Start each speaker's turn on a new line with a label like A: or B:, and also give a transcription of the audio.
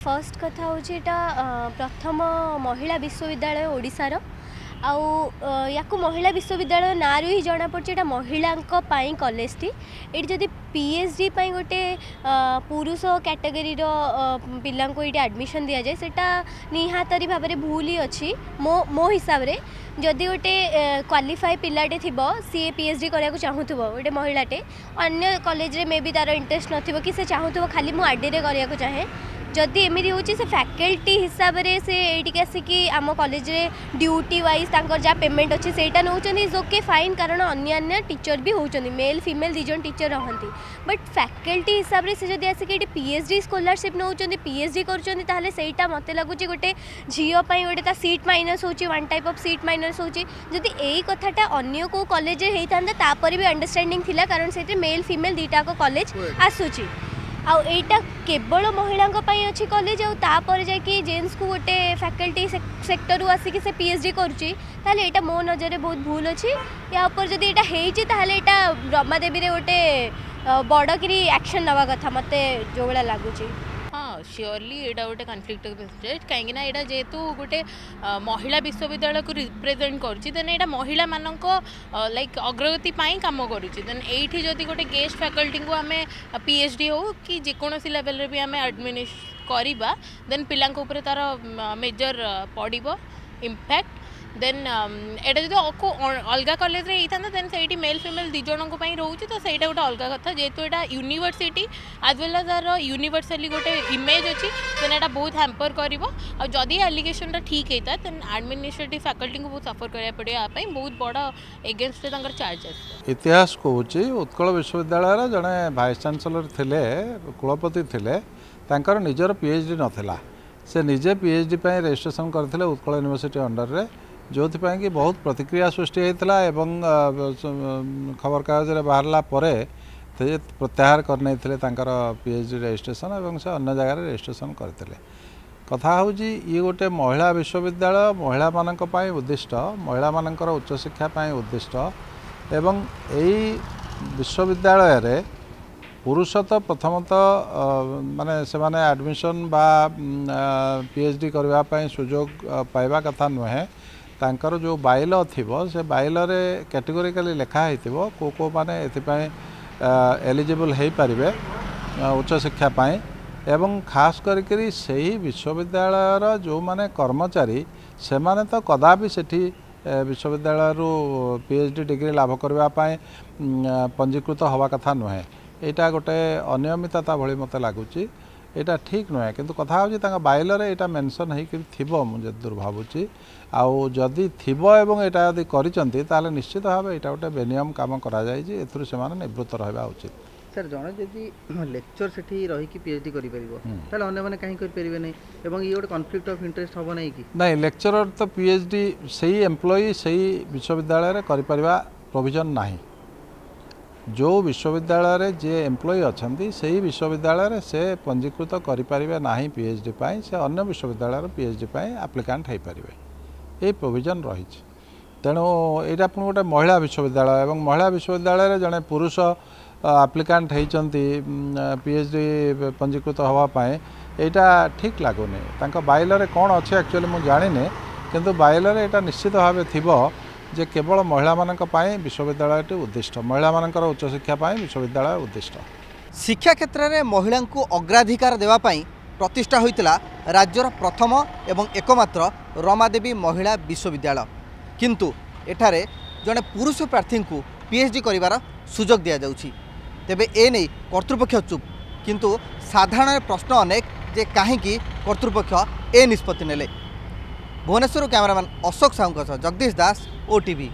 A: First କଥା ହେଉଛି, ଏଇଟା ପ୍ରଥମ ମହିଳା ବିଶ୍ୱବିଦ୍ୟାଳୟ ଓଡ଼ିଶାର। ଆଉ ୟାକୁ ମହିଳା ବିଶ୍ୱବିଦ୍ୟାଳୟ ନାଁରୁ ହିଁ ଜଣାପଡ଼ୁଛି ଏଇଟା ମହିଳାଙ୍କ ପାଇଁ କଲେଜଟି। ଏଇଠି ଯଦି ପିଏଚ୍ ଡି ପାଇଁ ଗୋଟେ ପୁରୁଷ କ୍ୟାଟେଗୋରୀର ପିଲାଙ୍କୁ ଏଇଠି ଆଡ଼ମିସନ୍ ଦିଆଯାଏ, ସେଇଟା ନିହାତି ଭାବରେ ଭୁଲ ହିଁ ଅଛି ମୋ ହିସାବରେ। ଯଦି ଗୋଟେ କ୍ୱାଲିଫାଏ ପିଲାଟେ ଥିବ, ସିଏ ପିଏଚ୍ ଡି କରିବାକୁ ଚାହୁଁଥିବ, ଗୋଟେ ମହିଳାଟେ, ଅନ୍ୟ କଲେଜରେ ମେ ବି ତା'ର ଇଣ୍ଟରେଷ୍ଟ ନଥିବ କି ସେ ଚାହୁଁଥିବ ଖାଲି ମୁଁ ଆର୍ଡ଼ିରେ କରିବାକୁ ଚାହେଁ, ଯଦି ଏମିତି ହେଉଛି, ସେ ଫ୍ୟାକଲ୍ଟି ହିସାବରେ ସେ ଏଇଠିକି ଆସିକି ଆମ କଲେଜରେ ଡ୍ୟୁଟି ୱାଇଜ୍ ତାଙ୍କର ଯାହା ପେମେଣ୍ଟ ଅଛି ସେଇଟା ନେଉଛନ୍ତି, is okay, fine. କାରଣ ଅନ୍ୟାନ୍ୟ ଟିଚର୍ ବି ହେଉଛନ୍ତି, ମେଲ୍ ଫିମେଲ୍ ଦୁଇ ଜଣ ଟିଚର୍ ରହନ୍ତି। ବଟ୍ ଫ୍ୟାକଲ୍ଟି ହିସାବରେ ସେ ଯଦି ଆସିକି ଏଇଠି ପିଏଚ୍ ଡି ସ୍କଲାରସିପ୍ ନେଉଛନ୍ତି, ପିଏଚ୍ ଡି କରୁଛନ୍ତି, ତାହେଲେ ସେଇଟା ମୋତେ ଲାଗୁଛି ଗୋଟେ ଝିଅ ପାଇଁ ଗୋଟେ ତା ସିଟ୍ ମାଇନସ୍ ହେଉଛି, one type of seat minus ହେଉଛି। ଯଦି ଏଇ କଥାଟା ଅନ୍ୟ କେଉଁ କଲେଜରେ ହେଇଥାନ୍ତା, ତାପରେ ବି ଅଣ୍ଡରଷ୍ଟାଣ୍ଡିଂ ଥିଲା, କାରଣ ସେଥିରେ ମେଲ୍ ଫିମେଲ୍ ଦୁଇଟାକ କଲେଜ ଆସୁଛି। ଆଉ ଏଇଟା କେବଳ ମହିଳାଙ୍କ ପାଇଁ ଅଛି କଲେଜ, ଆଉ ତାପରେ ଯାଇକି ଜେଣ୍ଟସକୁ ଗୋଟେ ଫ୍ୟାକଲ୍ଟି ସେକ୍ଟରରୁ ଆସିକି ସେ ପିଏଚ୍ ଡି କରୁଛି, ତାହେଲେ ଏଇଟା ମୋ ନଜରରେ ବହୁତ ଭୁଲ ଅଛି। ୟା ଉପରେ ଯଦି ଏଇଟା ହେଇଛି, ତାହେଲେ ଏଇଟା ରମାଦେବୀରେ ଗୋଟେ ବଡ଼ କିରି ଆକ୍ସନ୍ ନେବା କଥା, ମୋତେ ଯେଉଁ ଭଳିଆ ଲାଗୁଛି।
B: ହଁ, ସିଓରଲି ଏଇଟା ଗୋଟେ କନଫ୍ଲିକ୍ଟ ଅଫ୍ ଇଣ୍ଟରେଷ୍ଟ, କାହିଁକିନା ଏଇଟା ଯେହେତୁ ଗୋଟେ ମହିଳା ବିଶ୍ୱବିଦ୍ୟାଳୟକୁ ରିପ୍ରେଜେଣ୍ଟ କରୁଛି, ଦେନ୍ ଏଇଟା ମହିଳାମାନଙ୍କ ଲାଇକ୍ ଅଗ୍ରଗତି ପାଇଁ କାମ କରୁଛି। ଦେନ୍ ଏଇଠି ଯଦି ଗୋଟେ ଗେଷ୍ଟ ଫ୍ୟାକଲ୍ଟିଙ୍କୁ ଆମେ ପିଏଚ୍ ଡି ହଉ କି ଯେକୌଣସି ଲେଭେଲରେ ବି ଆମେ ଆଡ଼ମିନିସ୍ କରିବା, ଦେନ୍ ପିଲାଙ୍କ ଉପରେ ତା'ର ମେଜର ପଡ଼ିବ ଇମ୍ପାକ୍ଟ। ଦେନ୍ ଏଇଟା ଯଦି ଅଲଗା କଲେଜରେ ହେଇଥାନ୍ତା, ଦେନ୍ ସେଇଠି ମେଲ୍ ଫିମେଲ୍ ଦୁଇ ଜଣଙ୍କ ପାଇଁ ରହୁଛି, ତ ସେଇଟା ଗୋଟେ ଅଲଗା କଥା। ଯେହେତୁ ଏଇଟା ୟୁନିଭର୍ସିଟି ଆଜ୍ ୱେଲ୍ ଆଜ୍ ତାର ୟୁନିଭର୍ସାଲି ଗୋଟେ ଇମେଜ୍ ଅଛି, ଦେନ୍ ଏଇଟା ବହୁତ ହ୍ୟାମ୍ପର କରିବ। ଆଉ ଯଦି ଆଲିଗେସନଟା ଠିକ୍ ହେଇଥାଏ, ଦେନ୍ ଆଡ଼ମିନିଷ୍ଟ୍ରେଟିଭ୍ ଫ୍ୟାକଲ୍ଟିଙ୍କୁ ବହୁତ ସଫର କରିବାକୁ ପଡ଼ିବ। ୟା ପାଇଁ ବହୁତ ବଡ଼ ଏଗେନଷ୍ଟରେ ତାଙ୍କର ଚାର୍ଜ ଆସିବ।
C: ଇତିହାସ କହୁଛି, ଉତ୍କଳ ବିଶ୍ୱବିଦ୍ୟାଳୟର ଜଣେ ଭାଇସ୍ ଚାନ୍ସେଲର ଥିଲେ, କୁଳପତି ଥିଲେ, ତାଙ୍କର ନିଜର ପିଏଚ୍ ଡି ନଥିଲା। ସେ ନିଜେ ପିଏଚ୍ ଡି ପାଇଁ ରେଜିଷ୍ଟ୍ରେସନ୍ କରିଥିଲେ ଉତ୍କଳ ୟୁନିଭର୍ସିଟି ଅଣ୍ଡରରେ, ଯେଉଁଥିପାଇଁ କି ବହୁତ ପ୍ରତିକ୍ରିୟା ସୃଷ୍ଟି ହେଇଥିଲା ଏବଂ ଖବରକାଗଜରେ ବାହାରିଲା ପରେ ସେ ପ୍ରତ୍ୟାହାର କରିନେଇଥିଲେ ତାଙ୍କର ପିଏଚ୍ ଡି ରେଜିଷ୍ଟ୍ରେସନ୍ ଏବଂ ସେ ଅନ୍ୟ ଜାଗାରେ ରେଜିଷ୍ଟ୍ରେସନ୍ କରିଥିଲେ। କଥା ହେଉଛି, ଇଏ ଗୋଟେ ମହିଳା ବିଶ୍ୱବିଦ୍ୟାଳୟ, ମହିଳାମାନଙ୍କ ପାଇଁ ଉଦ୍ଦିଷ୍ଟ, ମହିଳାମାନଙ୍କର ଉଚ୍ଚଶିକ୍ଷା ପାଇଁ ଉଦ୍ଦିଷ୍ଟ ଏବଂ ଏଇ ବିଶ୍ୱବିଦ୍ୟାଳୟରେ ପୁରୁଷ ତ ପ୍ରଥମତଃ ମାନେ ସେମାନେ ଆଡ଼ମିସନ୍ ବା ପିଏଚ୍ ଡି କରିବା ପାଇଁ ସୁଯୋଗ ପାଇବା କଥା ନୁହେଁ। ତାଙ୍କର ଯେଉଁ ବାଇଲ ଥିବ, ସେ ବାଇଲରେ କ୍ୟାଟେଗୋରିକାଲି ଲେଖା ହେଇଥିବ କେଉଁ କେଉଁମାନେ ଏଥିପାଇଁ ଏଲିଜିବଲ୍ ହେଇପାରିବେ ଉଚ୍ଚଶିକ୍ଷା ପାଇଁ। ଏବଂ ଖାସ୍ କରିକିରି ସେହି ବିଶ୍ୱବିଦ୍ୟାଳୟର ଯେଉଁମାନେ କର୍ମଚାରୀ, ସେମାନେ ତ କଦାପି ସେଠି ବିଶ୍ୱବିଦ୍ୟାଳୟରୁ ପିଏଚ୍ ଡି ଡିଗ୍ରୀ ଲାଭ କରିବା ପାଇଁ ପଞ୍ଜୀକୃତ ହେବା କଥା ନୁହେଁ। ଏଇଟା ଗୋଟେ ଅନିୟମିତତା ଭଳି ମୋତେ ଲାଗୁଛି। ଏଇଟା ଠିକ୍ ନୁହେଁ। କିନ୍ତୁ କଥା ହେଉଛି, ତାଙ୍କ ବାଇଲରେ ଏଇଟା ମେନସନ୍ ହେଇକି ଥିବ ମୁଁ ଯେତେଦୂର ଭାବୁଛି। ଆଉ ଯଦି ଥିବ ଏବଂ ଏଇଟା ଯଦି କରିଛନ୍ତି, ତାହେଲେ ନିଶ୍ଚିତ ଭାବେ ଏଇଟା ଗୋଟେ ବେନିୟମ କାମ କରାଯାଇଛି। ଏଥିରୁ ସେମାନେ ନିବୃତ୍ତ ରହିବା ଉଚିତ।
D: ସାର୍, ଜଣେ ଯଦି ଲେକ୍ଚର ସେଠି ରହିକି ପିଏଚ୍ ଡି କରିପାରିବ, ତାହେଲେ ଅନ୍ୟମାନେ କାହିଁ କରିପାରିବେ ନାହିଁ? ଏବଂ ଇଏ ଗୋଟେ କନଫ୍ଲିକ୍ଟ ଅଫ୍ ଇଣ୍ଟରେଷ୍ଟ ହେବ ନାହିଁ କି?
C: ନାଇଁ, ଲେକ୍ଚରର ତ ପିଏଚ୍ ଡି ସେଇ ଏମ୍ପ୍ଲୟି ସେଇ ବିଶ୍ୱବିଦ୍ୟାଳୟରେ କରିପାରିବା ପ୍ରୋଭିଜନ୍ ନାହିଁ। ଯେଉଁ ବିଶ୍ୱବିଦ୍ୟାଳୟରେ ଯିଏ ଏମ୍ପ୍ଲୟି ଅଛନ୍ତି, ସେଇ ବିଶ୍ୱବିଦ୍ୟାଳୟରେ ସେ ପଞ୍ଜୀକୃତ କରିପାରିବେ ନାହିଁ ପିଏଚ୍ ଡି ପାଇଁ। ସେ ଅନ୍ୟ ବିଶ୍ୱବିଦ୍ୟାଳୟର ପିଏଚ୍ ଡି ପାଇଁ ଆପ୍ଲିକାଣ୍ଟ ହେଇପାରିବେ, ଏଇ ପ୍ରୋଭିଜନ୍ ରହିଛି। ତେଣୁ ଏଇଟା ପୁଣି ଗୋଟେ ମହିଳା ବିଶ୍ୱବିଦ୍ୟାଳୟ ଏବଂ ମହିଳା ବିଶ୍ୱବିଦ୍ୟାଳୟରେ ଜଣେ ପୁରୁଷ ଆପ୍ଲିକାଣ୍ଟ ହେଇଛନ୍ତି ପିଏଚ୍ ଡି ପଞ୍ଜୀକୃତ ହେବା ପାଇଁ, ଏଇଟା ଠିକ୍ ଲାଗୁନି। ତାଙ୍କ ବାଇଲରେ କ'ଣ ଅଛି ଆକ୍ଚୁଆଲି ମୁଁ ଜାଣିନି, କିନ୍ତୁ ବାଇଲରେ ଏଇଟା ନିଶ୍ଚିତ ଭାବେ ଥିବ ଯେ କେବଳ ମହିଳାମାନଙ୍କ ପାଇଁ ବିଶ୍ୱବିଦ୍ୟାଳୟଟି ଉଦ୍ଦିଷ୍ଟ, ମହିଳାମାନଙ୍କର ଉଚ୍ଚଶିକ୍ଷା ପାଇଁ ବିଶ୍ୱବିଦ୍ୟାଳୟ ଉଦ୍ଦିଷ୍ଟ।
D: ଶିକ୍ଷା କ୍ଷେତ୍ରରେ ମହିଳାଙ୍କୁ ଅଗ୍ରାଧିକାର ଦେବା ପାଇଁ ପ୍ରତିଷ୍ଠା ହୋଇଥିଲା ରାଜ୍ୟର ପ୍ରଥମ ଏବଂ ଏକମାତ୍ର ରମାଦେବୀ ମହିଳା ବିଶ୍ୱବିଦ୍ୟାଳୟ। କିନ୍ତୁ ଏଠାରେ ଜଣେ ପୁରୁଷ ପ୍ରାର୍ଥୀଙ୍କୁ ପିଏଚ୍ ଡି କରିବାର ସୁଯୋଗ ଦିଆଯାଉଛି। ତେବେ ଏ ନେଇ କର୍ତ୍ତୃପକ୍ଷ ଚୁପ୍, କିନ୍ତୁ ସାଧାରଣରେ ପ୍ରଶ୍ନ ଅନେକ ଯେ କାହିଁକି କର୍ତ୍ତୃପକ୍ଷ ଏ ନିଷ୍ପତ୍ତି ନେଲେ? ଭୁବନେଶ୍ୱରରୁ କ୍ୟାମେରାମ୍ୟାନ୍ ଅଶୋକ ସାହୁଙ୍କ ସହ ଜଗଦୀଶ ଦାସ, ଓଟିଭି।